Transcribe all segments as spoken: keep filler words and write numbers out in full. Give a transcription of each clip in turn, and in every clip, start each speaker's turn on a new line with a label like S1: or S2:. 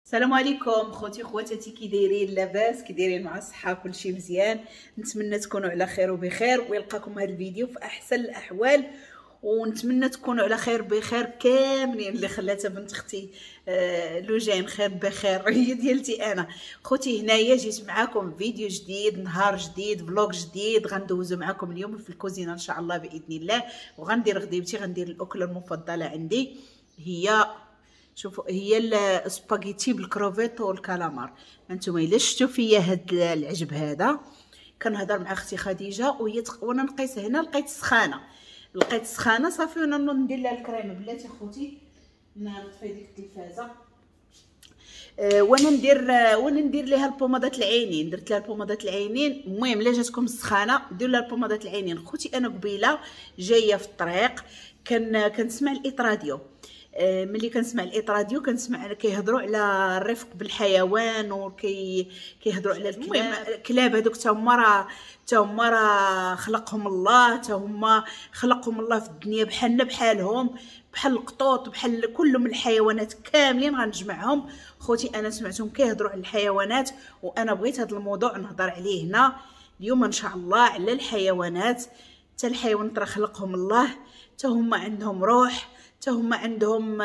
S1: السلام عليكم خوتي خواتاتي، كي دايرين؟ لاباس؟ كي دايرين مع الصحة؟ كلشي مزيان؟ نتمنى تكونوا على خير وبخير ويلقاكم هذا الفيديو في احسن الاحوال، ونتمنى تكونوا على خير بخير كاملين. اللي خلاتها بنت اختي آه لوجين خير بخير هي ديالتي انا. خوتي هنايا جيت معاكم فيديو جديد، نهار جديد، vlog جديد غندوزو معاكم اليوم في الكوزينة ان شاء الله باذن الله. وغندير غديبتي، غندير الاكلة المفضلة عندي هي، شوفوا، هي السباغيتي بالكروفيت والكالامار. انتم الا شفتوا فيا هاد العجب هذا، كنهضر مع اختي خديجة وهي تق... وانا نقيس هنا، لقيت السخانه، لقيت السخانه صافي، وانا ندير لها الكريمة. بلاتي خوتي نطفي ديك التلفازه. أه وانا ندير وانا ندير ليها البومادات العينين، درت لها البومادات العينين. المهم الا جاتكم السخانه ديروا لها البومادات العينين. خوتي انا قبيلة جاية في الطريق كان كنسمع الإيت راديو. ملي كنسمع الإيت راديو كنسمع كيهضروا على الرفق بالحيوان وكي كيهضروا على المهم الكلاب هذوك تا هما راه تا هما راه خلقهم الله، تا هما خلقهم الله في الدنيا بحالنا بحالهم، بحال القطوط، بحال كلهم الحيوانات كاملين غنجمعهم. خوتي انا سمعتهم كيهضروا على الحيوانات وانا بغيت هذا الموضوع نهضر عليه هنا اليوم ان شاء الله، على الحيوانات. حتى الحيوانات راه خلقهم الله، تا هما عندهم روح، حتى هما عندهم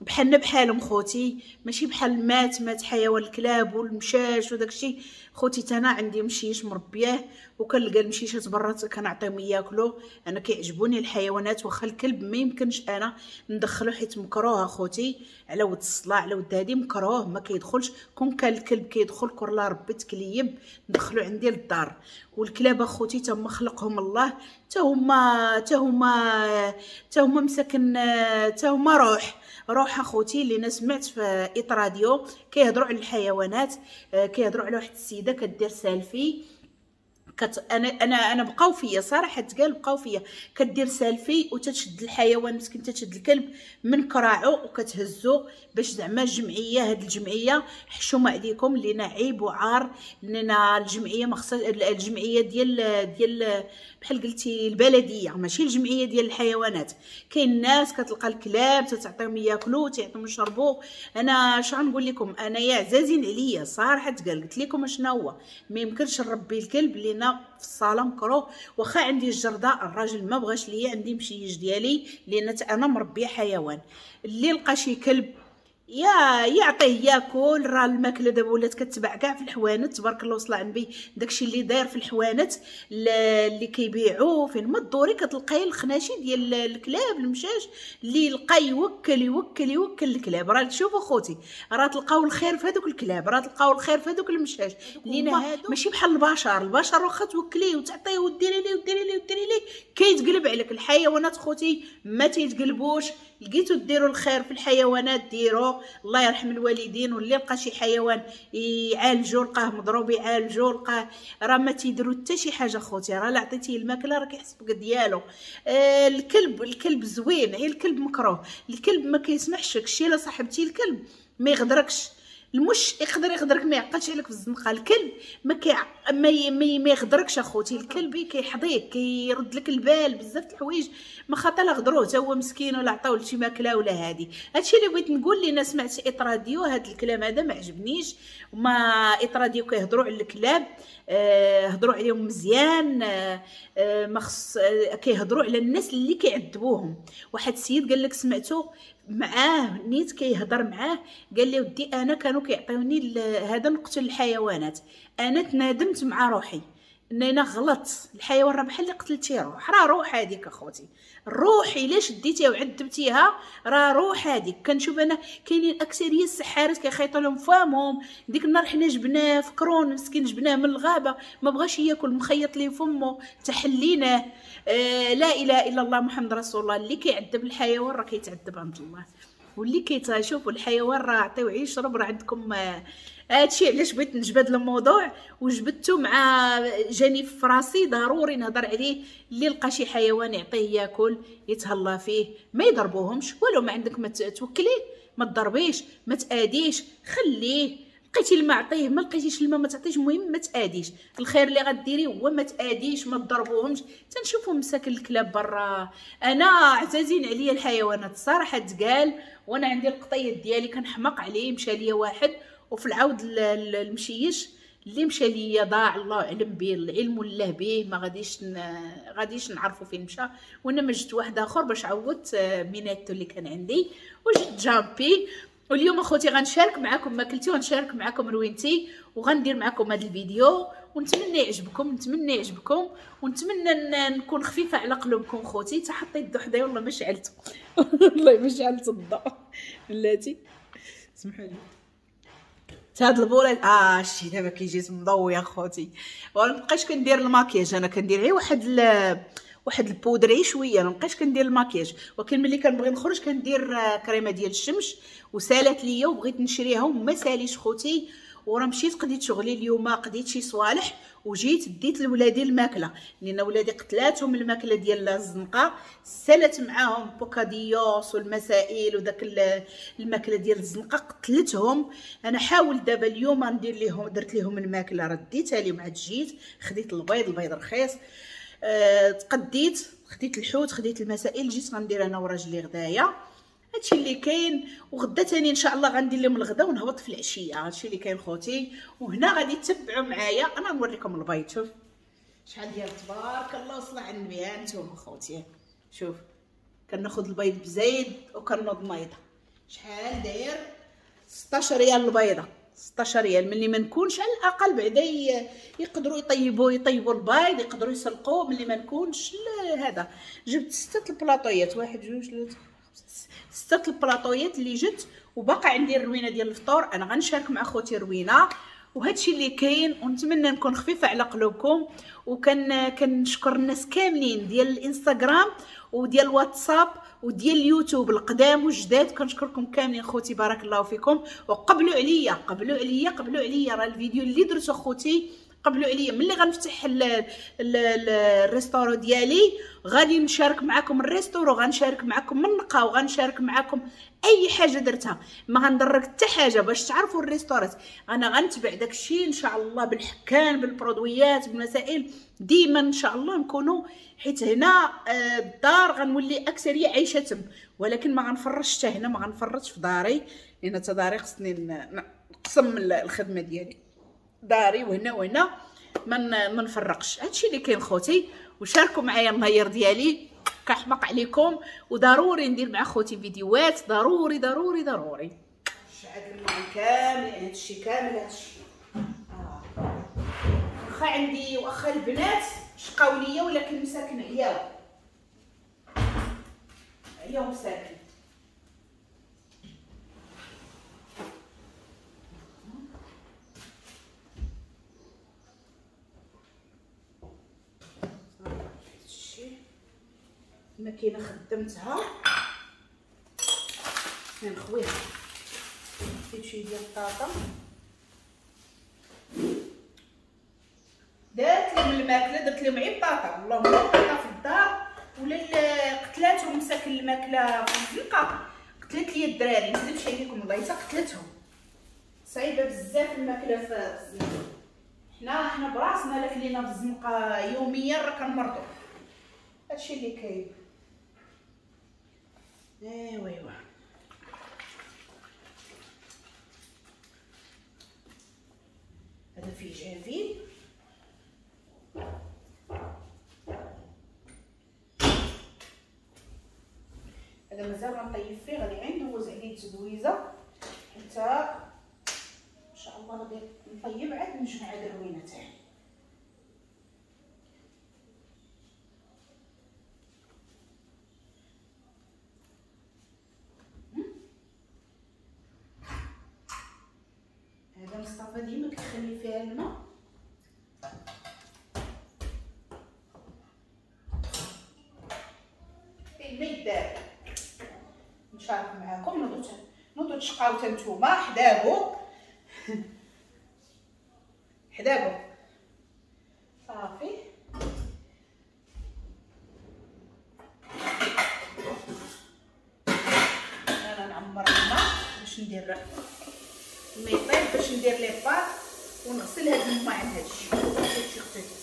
S1: بحالنا بحالهم خوتي، ماشي بحال مات مات حيوان الكلاب والمشاش وداكشي. خوتي تانا عندي مشيش مربياه وكنلقى المشيشات برا كنعطيهم ياكلوا. انا كيعجبوني الحيوانات، واخا الكلب ما يمكنش انا ندخلو حيت مكروه خوتي، على ود الصلاة على ود هادي مكروه ما كيدخلش. كون كان الكلب كيدخل كور لا ربي تكليب ندخلو عندي للدار. والكلاب اخوتي تما خلقهم الله، تا هما تا هما تا هما مساكن، تا هما روح روح اخوتي. اللي انا سمعت في إيت راديو كيهضروا على الحيوانات، كيهضروا على واحد السيدة كدير سالفي كت... انا انا انا بقاو فيا صراحة، تقال بقاو فيا، كدير سالفي وتتشد الحيوان مسكين، تتشد الكلب من كراعو وكتهزو باش زعما الجمعية، هاد الجمعية حشومه عليكم لينا عيب وعار، لنا الجمعية ما خصها، الجمعية ديال ديال بحال قلتي البلدية، ماشي الجمعية ديال الحيوانات. كاين ناس كتلقى الكلاب تتعطيهم ياكلوا تيعطيهم يشربوا. انا اش غنقول لكم، انا يا عزازين عليا صراحة تقال، قلت لكم اشنا هو، ما يمكنش نربي الكلب لينا في الصاله مكروه. واخا عندي الجرده الراجل ما بغاش ليا، عندي مشيج ديالي لان انا مربيه حيوان. اللي لقى شي كلب يا يعطيه ياكل، راه الماكلة دابا ولات كتباع كاع في الحوانت تبارك الله وصل على النبي. داكشي اللي داير في الحوانت اللي كيبيعوا فين ما الدوري كتلقاي الخناشي ديال الكلاب المشاش، اللي لقى يوكل يوكل يوكل الكلاب. راه تشوفوا خوتي راه تلقاو الخير في هذوك الكلاب، راه تلقاو الخير في هذوك المشاش، لينا هادو ماشي بحال البشر. البشر واخا توكليه وتعطيه وديري ليه وديري ليه وديري ليه كيتقلب عليك. الحيوانات خوتي ما تيتقلبوش. لقيتو ديروا الخير في الحيوانات ديروا، الله يرحم الوالدين. واللي لقى شي حيوان يعالجو، لقاه مضروب يعالجو، لقاه راه ما تيديروا حتى شي حاجة خوتي. راه لا عطيتيه الماكلة راه كيحسبك ديالو. آه الكلب، الكلب زوين، غير الكلب مكروه. الكلب ما كيسمحش لك شي، لا صاحبتي الكلب ما يغدركش، المش يقدر يغدرك ما يعقلش عليك في الزنقة. الكلب ما كي ما, ما يغدركش اخوتي. الكلب كيحضيك، كيرد لك البال بزاف د الحوايج، ما خاطر لا غدروه حتى هو مسكين ولا عطاو شي ماكله ولا هادي. هادشي اللي بغيت نقول. لينا سمعت إيت راديو هاد الكلام هذا ما عجبنيش. وما إيت راديو كيهضروا على الكلاب، آه هضروا عليهم مزيان، آه آه ما خص، آه كيهضروا على الناس اللي كيعذبوهم. واحد السيد قال لك سمعتو معاه نيت كيهضر معاه، قال لي ودي انا كانوا كيعطيوني هذا نقتل الحيوانات، انا تنادمت مع روحي ان انا غلطت. الحيوان راه بحال اللي قتلتي روح، راه روح هذيك اخوتي، الروح الا شديتيها وعذبتيها راه روح هذيك. كنشوف انا كاينين اكثرية السحارات كيخيطوا لهم فامهم. ديك النهار حنا جبناه فكرون مسكين، جبناه من الغابة ما بغاش ياكل، مخيط ليه فمو تحليناه. آه لا اله الا الله محمد رسول الله. اللي كيعذب الحيوان راه كيتعذب عند الله، واللي كيتشوفوا الحيوان راه عطيوه يشرب. راه عندكم هادشي علاش بغيت نجبد الموضوع وجبدته مع جاني في راسي، ضروري نهضر عليه. اللي لقى شي حيوان يعطيه ياكل، يتهلا فيه، ما يضربوهمش ولو ما عندك ما توكليه، ما تضربيش، ما تاديش، خليه. لقيتي الماء عطية، ما لقيتيش الماء ما تعطيش، المهم ما تاديش. الخير اللي غديري هو ما تاديش، ما تضربوهمش. تنشوفوا مساكن الكلاب برا، انا عزازين عليا الحيوانات الصراحة تقال، وانا عندي القطيط ديالي كنحماق عليه، مشى ليا واحد وفي العود المشيش اللي مشى ليا ضاع، الله اعلم به، العلم والله به، ما غاديش ن... غاديش نعرفوا فين مشى. وانا ما جبت واحد اخر باش عوضت ميناتو اللي كان عندي، وجبت جامبي. واليوم اخوتي غنشارك معكم ماكلتي ونشارك معكم روينتي، وغندير معكم هذا الفيديو، ونتمنى يعجبكم، نتمنى يعجبكم، ونتمنى نكون خفيفة على قلوبكم خوتي. حتى حطيت الضو حدايا والله ما شعلته والله ما شعلت الضوء بلاتي، سمحوا لي. هاد البوله اه شتي دابا كيجي مضوي يا خوتي. وما بقيتش كندير الماكياج، انا كندير غير واحد ال... واحد ال poudre شوية، ما بقيتش كندير الماكياج. ولكن ملي كنبغي نخرج كندير كريمة ديال الشمس، وسالت ليا وبغيت نشريها وما ساليش خوتي. وراه مشيت قضيت شغلي اليوم، قضيت شي صوالح وجيت ديت لولادي الماكلة، لان ولادي قتلاتهم الماكلة ديال الزنقة، سالت معاهم bocadillos والمسائل وداك الماكلة ديال الزنقة قتلتهم. انا حاولت دابا اليوم ندير ليهم، درت ليهم الماكلة رديتها لهم، عاد جيت خديت البيض، البيض رخيص، أه تقديت، خديت الحوت، خديت المسائل، جيت غندير انا وراجلي غدايا. هادشي اللي كاين. وغدا تاني ان شاء الله غندير لهم الغدا ونهبط في العشية. هادشي اللي كاين خوتي. وهنا غادي تتبعوا معايا، انا نوريكم البيض. شوف شحال ديال تبارك الله وصلى على النبي. ها انتم خوتي، شوف كناخذ البيض بزايد وكنوض نايضه. شحال داير؟ ستاشر ريال البيضة، ستاشر ريال. ملي ما نكونش على الاقل بعدا يقدروا يطيبوا يطيبوا البيض، يقدروا يسلقوه ملي ما نكونش. هذا جبت ستة البلاطويات، واحد جوج ثلاثة ستة البلاطويات اللي جبت، وباقي عندي الروينه ديال الفطور. انا غنشارك مع خوتي روينه. وهادشي اللي كاين، ونتمنى نكون خفيفة على قلوبكم. وكان كنشكر الناس كاملين ديال الانستغرام وديال الواتساب وديال اليوتيوب، القدام والجداد، كنشكركم كاملين خوتي، بارك الله فيكم. وقبلوا عليا قبلوا عليا قبلوا عليا، راه الفيديو اللي درته خوتي قبلوا عليا. ملي غنفتح ال restaurant ديالي غادي نشارك معكم ال restaurant، غنشارك معكم النقا، وغنشارك معكم اي حاجة درتها، ما غندرك حتى حاجة باش تعرفوا ال restaurant. انا غنتبع داكشي ان شاء الله بالحكان، بالبرودويات، بالمسائل، ديما ان شاء الله نكونوا، حيت هنا الدار غنولي اكثرية عايشه تم، ولكن ما غنفرش حتى هنا، ما غنفرش في داري، لان حتى داري خصني نقسم الخدمة ديالي، داري وهنا وهنا، ما ما نفرقش. هادشي اللي كاين خوتي. وشاركوا معايا النهار ديالي، كنحماق عليكم، وضروري ندير مع خوتي فيديوهات، ضروري ضروري ضروري. شعل الماء كامل، هادشي كامل هادشي آه. واخا عندي واخا البنات شقاو ليا، ولكن مساكن عياو عياو مساكن. الماكينة خدمتها نخويها، زيد شوية ديال البطاطا، درت لهم الماكلة، درت لهم غير بطاطا، اللهم بطاطا في الدار ولا قتلاتهم مساكن الماكلة في الزنقة، قتلت لي الدراري، ما نكذبش عليكم والله حتى قتلتهم. صعيبة بزاف الماكلة في الزنقة، حنا حنا براسنا لا كلينا في الزنقة يوميا راه كنمرضوا. هادشي اللي كاين. ايوا ايوا هذا فيه جافيل، هذا مازال غنطيب فيه، غادي غير ندوز عليه التدويزه حتى ان شاء الله غادي نطيب عاد نجمع هاد الروينه تاعي. هذا مصطفى ديما كيخلي فيها الماء. الماء يدار. نشارك معاكم، نوضو نوضو تشقاو حتى نتوما حداكو حداكو صافي. انا نعمر الماء باش ندير الماء يطيب. باش ندير les pâtes ونغسل هاد الماعن هادشي. هادشي خصو يتغسل.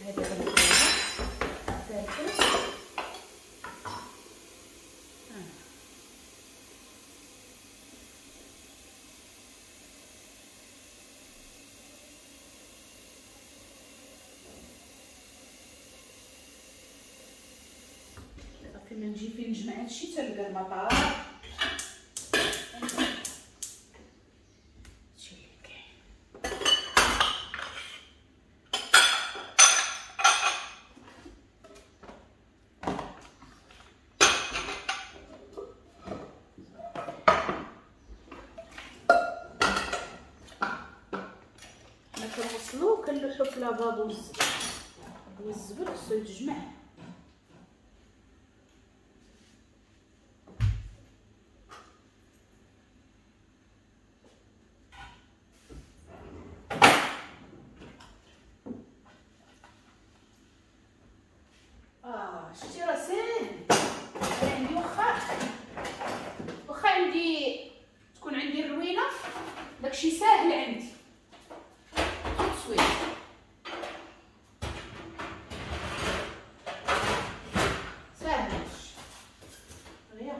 S1: هادي غنديرها ثالثة. صافي ما نجي فين نجمع هادشي تلقى المطار. هادشي اللي كاين. حنا كنوصلو كنلوحو في لافابو الزبل، والزبل خصو يتجمع. اه شتي راه ساهل. انا عندي واخا واخا عندي تكون عندي الروينه داكشي ساهل عندي tout de suite. ساهل هادشي دغيا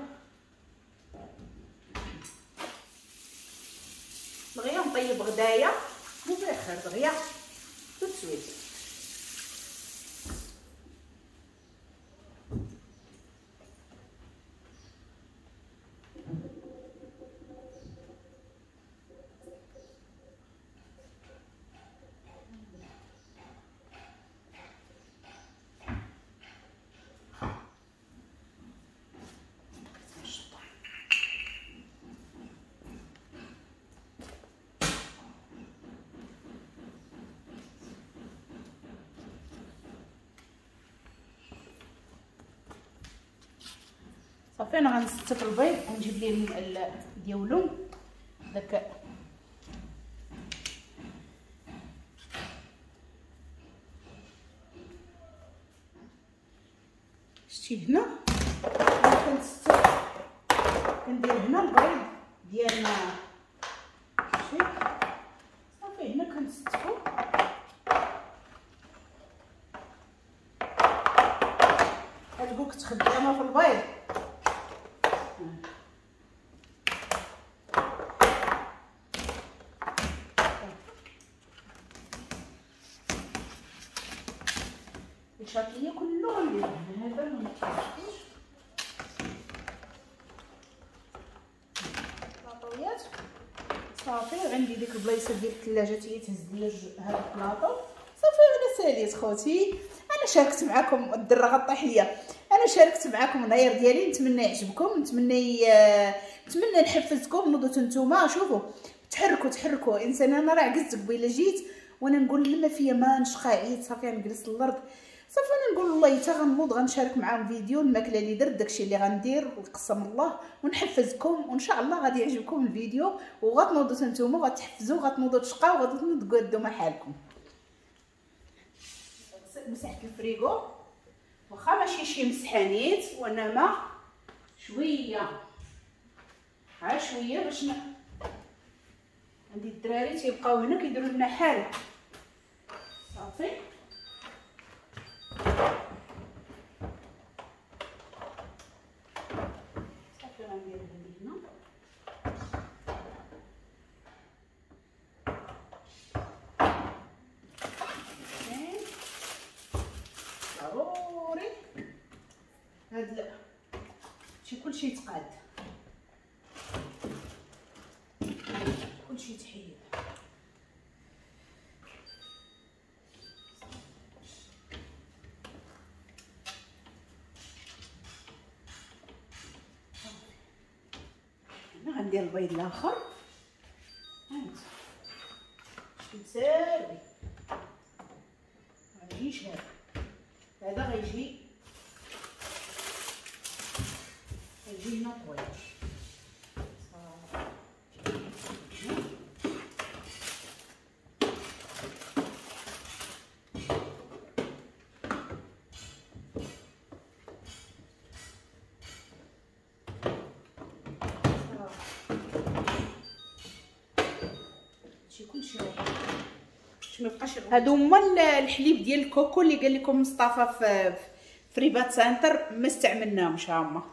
S1: دغيا نطيب غدايا وبخير دغيا tout de suite. صافي انا غنستف البيض ونجيب ليه ديالو داك شتي هنا كنستف كندير هنا البيض ديالنا. شتي صافي هنا كنستفو. هتقول كنت خدامه في البيض. الشاطيه كله غندير هنا، هذا ما نتفكش بلاطويات. صافي عندي ديك البلايصه ديال الثلاجة تي تهز لي هذا البلاطو. صافي انا ساليت خوتي، انا شاركت معكم الدرة غطيح ليا، انا شاركت معكم النهار ديالي. نتمنى يعجبكم، نتمنى نتمنى نحفزكم. نوضوا نتوما شوفوا تحركوا تحركوا. انسان انا راه عكزت قبيلة جيت وانا نقول لما فيا ما نشقى عيد صافي نجلس الارض. صافي انا نقول والله حتى غنوض غنشارك معاهم فيديو الماكلة اللي درت داكشي اللي غندير وقسم الله ونحفزكم، وان شاء الله غادي يعجبكم الفيديو وغتنوضوا نتوما وغتحفزوا وغتنوضوا تشقاو وغتنوضوا تقادوا مع حالكم. مسحت الفريغو واخا ماشي شي مسحانيت وانما شوية عا شوية باش ن... عندي الدراري تيبقاو هنا كيديروا لنا حاله. صافي صافي غندير هادي هنا. ضروري هاد شي كلشي يتقاد، كلشي يتحيد. هنا غندير البيض الاخر. هانت شي غيجيش هذا، هذا غيجي غيجي هنا طويل. صافي باش ما يبقاش. هادو هما الحليب ديال ال coco اللي قال لكم مصطفى في في رباط سانتر، ما استعملناهمش، ها هما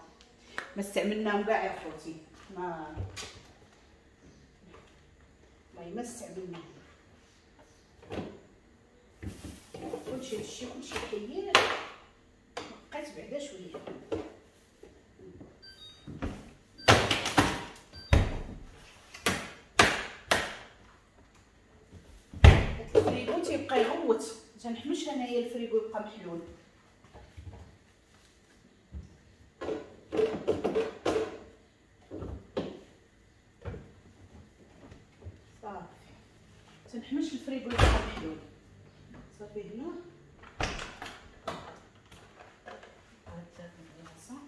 S1: ما استعملناهم كاع يا خوتي، ما والله ما استعملناهم. كلشي هادشي كلشي حير، بقيت بعدا شوية. الفريغو تيبقى يغوت، تنحمش انايا الفريغو يبقى محلول. صافي تنحمش الفريغو يبقى محلول. صافي هنا هاد البلاصة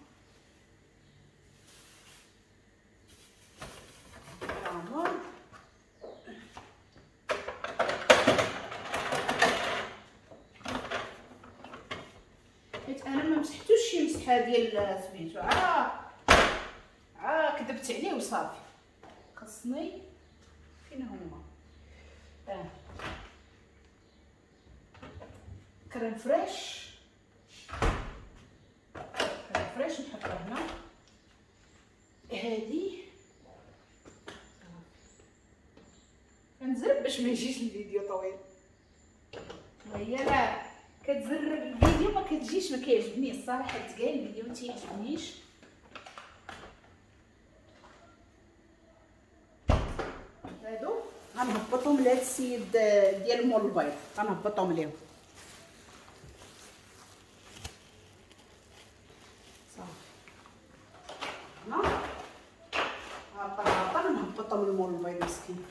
S1: حيت انا ما مسحتوش شي مسحه ديال سميتو، عا عا كذبت عليه وصافي. خصني فين هما اه crème fraîche، crème fraîche نحطها هنا. هادي كنزرب باش ما يجيش الفيديو طويل، وهي لا كتزرب الفيديو ما كتجيش، ما كيعجبنيش الصراحة تقال الفيديو ما تيعجبنيش. هادو غنهبطهم لهاد السيد ديال مول البيض، غنهبطهم ليهم صافي. هنا هابطة هابطة نهبطهم لمول البيض مسكين.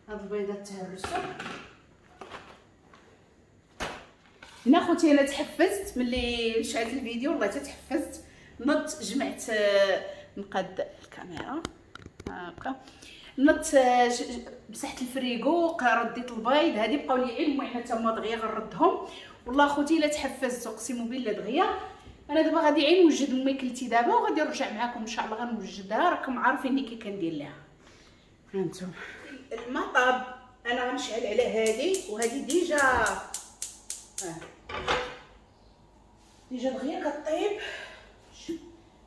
S1: هاد البيضات تهرسوا هنا خوتي. انا تحفزت ملي شعلت الفيديو، والله تتحفزت، نضت جمعت نقاد الكاميرا هكا، نضت مسحت الفريغو، رديت البيض، هادي بقاو لي غير المهم تما دغيا غنردهم. والله خوتي الا تحفزت اقسم بالله دغيا. انا دابا غادي غير نوجد ماكلتي دابا وغادي نرجع معاكم ان شاء الله، غنوجدها راكم عارفيني كي كندير لها. هانتوما المطاب انا غنشعل على هادي، وهادي déjà آه. déjà دغيا كطيب.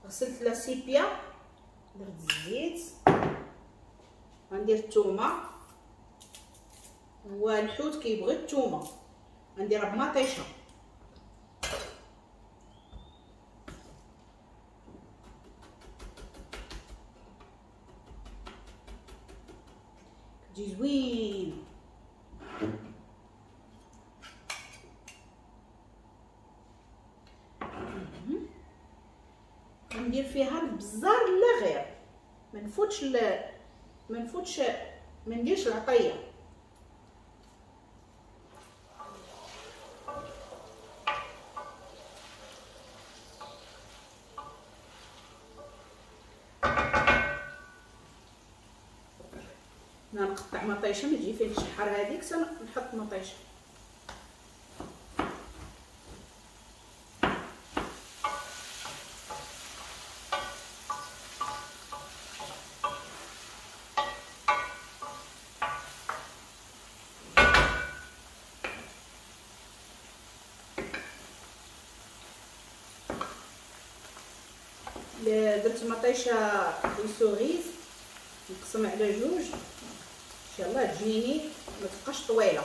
S1: غسلت la sépia، درت الزيت، غندير الثومه، هو الحوت كيبغي الثومه، غنديرها بمطيشه. تجي زوين. ندير فيها البزار لا غير، ما نفوتش ل... ما نفوتش، ما نديرش العطية. نقطع مطيشه، ما تجي فيه الشحر هذيك نحط مطيشه. درت مطيشه cerises نقسم على جوج ان شاء الله تجيني ما تبقاش طويلة.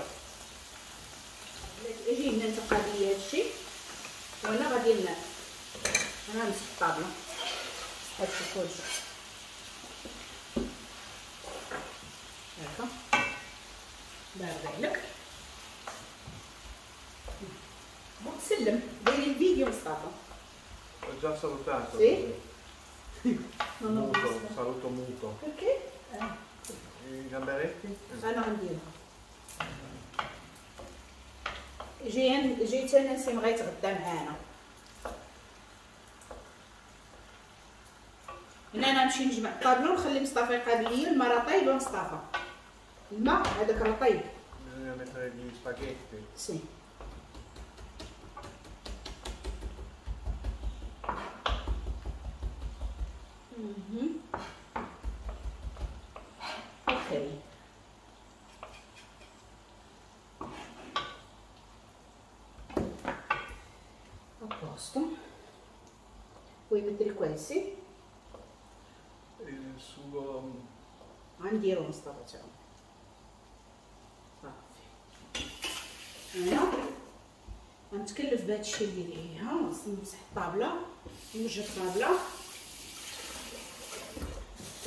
S1: اجي هنا انت قضية هادشي، وانا غادي انا نمسح الطابله هادشي كلشي هكا. الله يرضي عليك وتسلم. ديري الفيديو مصطفى.
S2: Ho già salutato.
S1: Sì?
S2: Non ho muto, saluto muto.
S1: Perché? Eh.
S2: I gamberetti?
S1: انا غنديرها. جي جيت انا نسيم غيتغدى معانا. هنا انا نمشي نجمع الطابلو ونخلي مصطفى يقابل لي. الماء راه طايب مصطفى، الماء هذاك راه طايب.
S2: Bisogna mettere gli spaghetti.
S1: Sì. Posto. Vuoi mettere questi?
S2: Il sugo.
S1: غنديرو مصطفى تا هو. صافي. انا غنتكلف بهذا الشيء اللي ليها، نمسح الطابله، نوجد الطابله.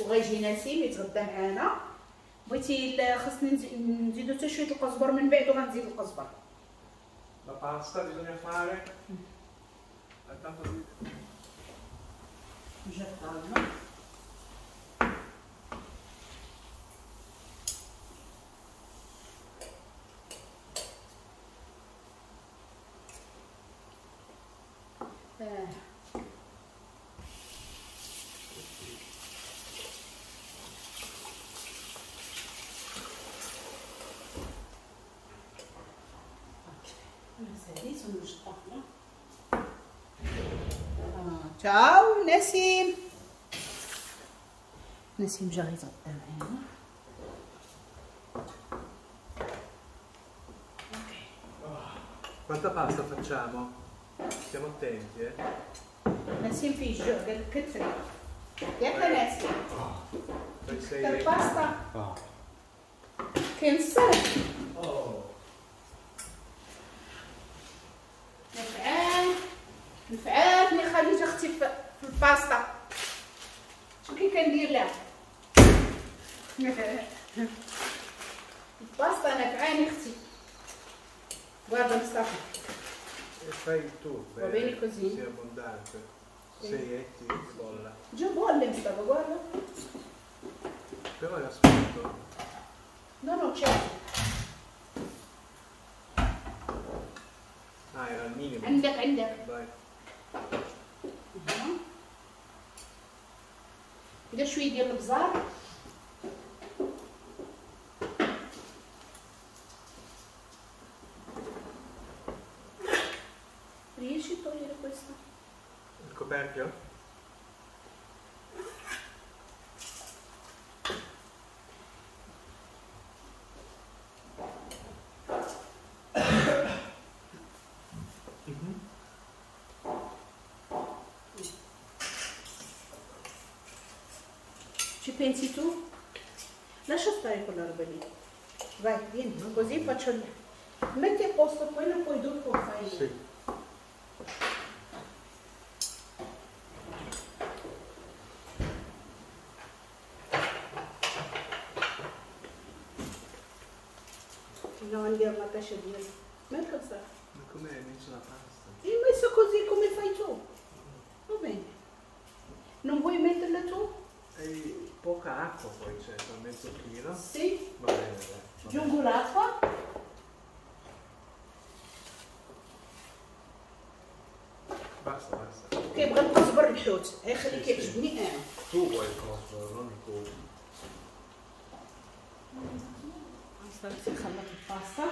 S1: وغيجي نسيم يتغدى معانا. بغيتي خاصني نزيدو حتى شوية القزبر من بعد، وغنزيد القزبر.
S2: La pasta bisogna fare.
S1: نوجد الطابله. تشاو نسيم. نسيم جا غيتغدى معانا.
S2: Quanta pasta facciamo? Stiamo attenti, eh.
S1: نسيم فيه الجوع، قال لك كثري. ياك نسيم؟ كثر الباستا. كاين الصرف. نفعان نفعاتني خديجة اختي في الباستا. شو كي كندير لها؟ الباستا نفعاني اختي. Guarda Mustafa.
S2: E fai tu,
S1: va bene così?
S2: Sia abbondante.
S1: Sì.
S2: Sei etti e bolla.
S1: Già bolle Mustafa, guarda.
S2: Però era spento.
S1: No, no, c'è.
S2: Ah, era il minimo.
S1: عندك عندك.
S2: Vai.
S1: ندير شوية ديال البزار. Riesci a togliere questo?
S2: Il coperchio? Mm-hmm.
S1: Ci pensi tu? Lascia stare quella roba lì. Vai, vieni, così faccio il... Metti a posto quello, poi dopo fai...
S2: Sì.
S1: No, andiamo a tascia di... Ma cosa?
S2: Ma come hai messo la pasta?
S1: Hai messo così come fai tu. Va bene. Non vuoi metterla tu?
S2: E poca acqua poi c'è, per mezzo chilo.
S1: Sì.
S2: Va bene, dai.
S1: Aggiungo l'acqua.
S2: Basta, basta.
S1: كيبغي القزبر الحوت، غير خلي كيعجبني انا.
S2: Tu vuoi il cosbor, non il tuo.
S1: صافي نخلط الباستا.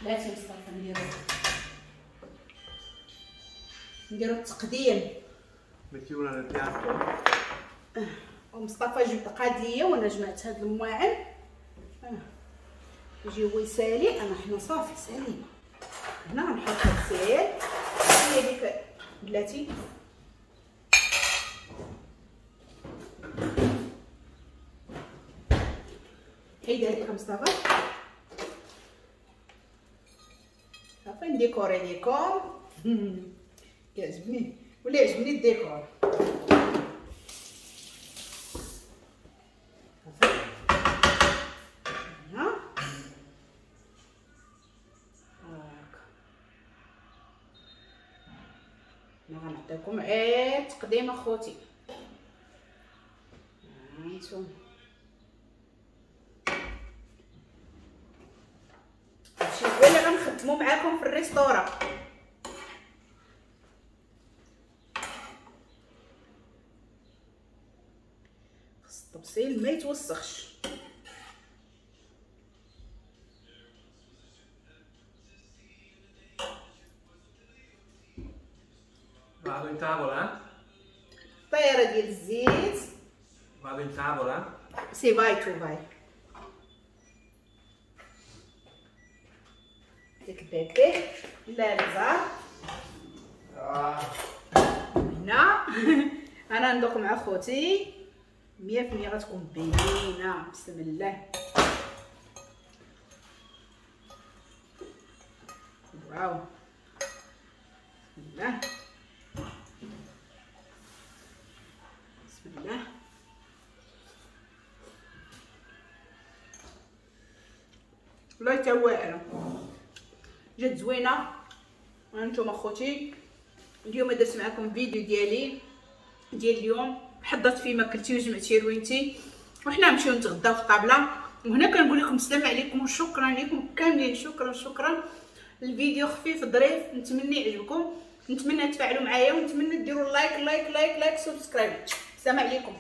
S1: بلاتي مصطفى نديرو نديرو التقديم.
S2: Metti una nel piatto.
S1: ومصطفى جبت قاد ليا وانا جمعت هاد المواعن. يجي هو يسالي، انا حنا صافي سالينا. هنا غنحط السيل هي ديك بلاتي. حيد هذيك مصطفى. صافي نديكوري ليكم. كيعجبني ولا يعجبني الديكور. صافي هنا هاكا. انا غنعطيكم غير تقديم اخوتي. هانتوما هادشي هو اللي غنخدمو معاكم في ال restaurant. خص الطبسيل ما يتوسخش.
S2: Vado in tavola?
S1: طيره ديال الزيت.
S2: Vado in tavola?
S1: Sì, vai tu, vai. ديك البيبي لا نزار هنا. انا ندوق مع خوتي مية في المية غتكون بنينه. بسم الله. واو بسم الله بسم الله. والله تا واعرة، جات زوينة. هانتوما خوتي اليوم درت معكم فيديو ديالي ديال اليوم، حضرت فيه ماكلتي وجمعتي روينتي، وحنا نمشيو نتغداو في الطابله. وهنا كنقول لكم السلام عليكم وشكرا لكم كاملين، شكرا شكرا. الفيديو خفيف ظريف، نتمنى يعجبكم، نتمنى تفاعلوا معايا، ونتمنى ديروا like like like like subscribe. السلام عليكم.